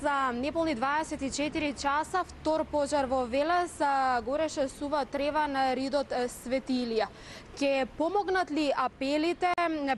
За неполни 24 часа втор пожар во Велес, гореше сува трева на ридот Светилија. Ке помогнат ли апелите,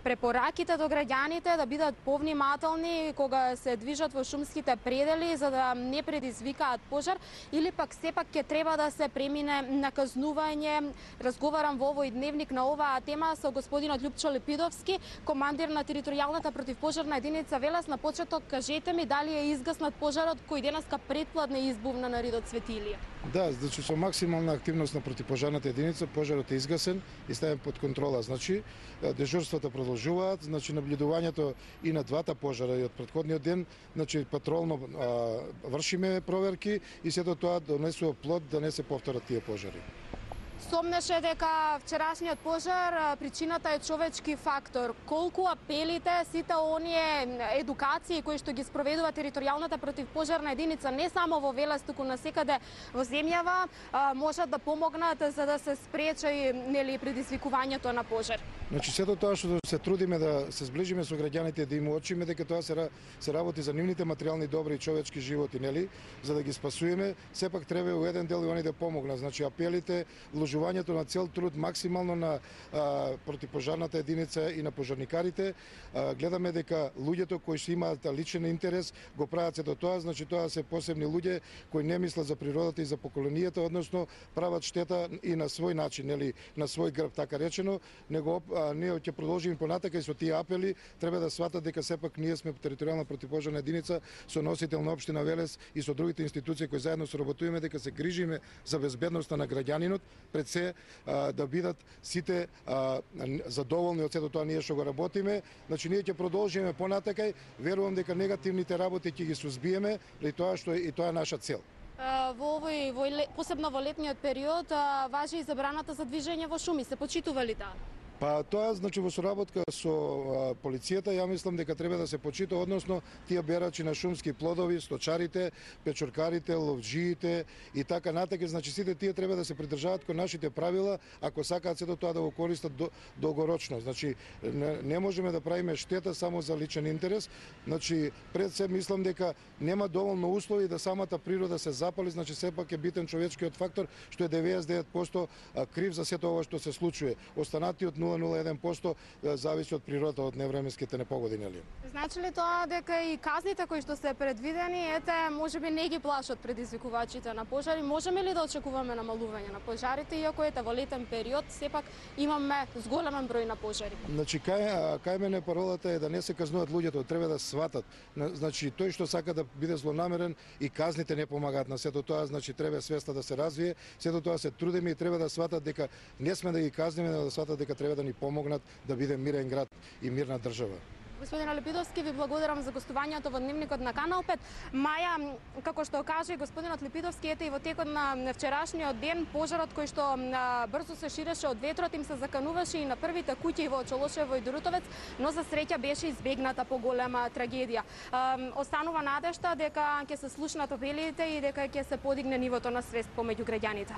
препораките до граѓаните да бидат повнимателни кога се движат во шумските предели за да не предизвикаат пожар, или пак сепак ке треба да се премине на казнување? Разговарам во овој дневник на оваа тема со господинот Љупчо Лепидовски, командир на територијалната противпожарна единица Велес. На почеток кажете ми дали е изгаснат пожарот кој денеска предпладне избувна на ридот Светилија? Да, значи со максимална активност на противпожарната единица пожарот е изгасен и ставен под контрола. Значи дежурствата продолжуваат, значи наблюдувањето и на двата пожара и од претходниот ден, значи патролно вршиме проверки и сето тоа донесува плод да не се повторат тие пожари. Сомнеше дека вчерашниот пожар причината е човечки фактор. Колку апелите, сите оние едукации кои што ги спроведува територијалната противпожарна единица не само во Велес, туку насекаде во земјава, можат да помогнат за да се спречи предизвикувањето на пожар? Значи сето тоа што се трудиме да се зближиме со граѓаните, да им уочиме дека тоа се работи за нивните материјални добри и човечки животи, за да ги спасуеме, сепак треба во еден дел и они да помогнат. Значи апелите, вложувањето на цел труд максимално на противпожарната единица и на пожарникарите. Гледаме дека луѓето кои што имаат личен интерес го прават сето тоа, значи тоа се посебни луѓе кои не мислат за природата и за поколенијата, односно прават штета и на свој начин, на свој грб, така речено, него ние ќе продолжиме понатака и со тие апели треба да сватат дека сепак ние сме територијална противпожарна единица со носител на општина Велес и со другите институции кои заедно соработуваме дека се грижиме за безбедноста на граѓанинот, пред се да бидат сите задоволни од сето тоа ние што го работиме. Значи ние ќе продолжиме понатака и верувам дека негативните работи ќе ги сузбиеме, и тоа што и тоа е наша цел. Посебно во летниот период важи и забраната за движење во шуми. Се почитува ли таа? Па тоа значи во соработка со полицијата, ја мислам дека треба да се почита, односно тие берачи на шумски плодови, сточарите, печоркарите, ловџиите и така натака, значи сите тие треба да се придржаваат кон нашите правила, ако сакаат сето тоа да го користат долгорочно. Значи не можеме да правиме штета само за личен интерес. Значи пред се мислам дека нема доволно услови да самата природа се запали, значи сепак е битен човечкиот фактор што е 99% крив за сето ова што се случува. Останатиот 0,01% зависи од природата, од невременските непогоди, нели? Значи ли тоа дека и казните кои што се предвидени, можеби не ги плашат предизвикувачите на пожари? Можеме ли да очекуваме намалување на пожарите, иако во летен период сепак имаме зголемен број на пожари? Значи кај мене паролата е да не се казнуваат луѓето, треба да сватат. Значи тој што сака да биде злонамерен и казните не помагаат на сето тоа, значи треба свеста да се развие, сето тоа се трудиме и треба да сватат дека не сме да ги казниме, да сватат дека треба да ни помогнат да биде мирен град и мирна држава. Господин Лепидовски, ви благодарам за гостувањето во дневникот на Канал 5. Маја, како што каже господинот Лепидовски, и во текот на вчерашниот ден пожарот кој што брзо се ширеше од ветрот им се закануваше и на првите куќи во Чолошево и Дорутовец, но за среќа беше избегната поголема трагедија. Останува надежта дека ќе се слушнат апелите и дека ќе се подигне нивото на свест помеѓу граѓаните.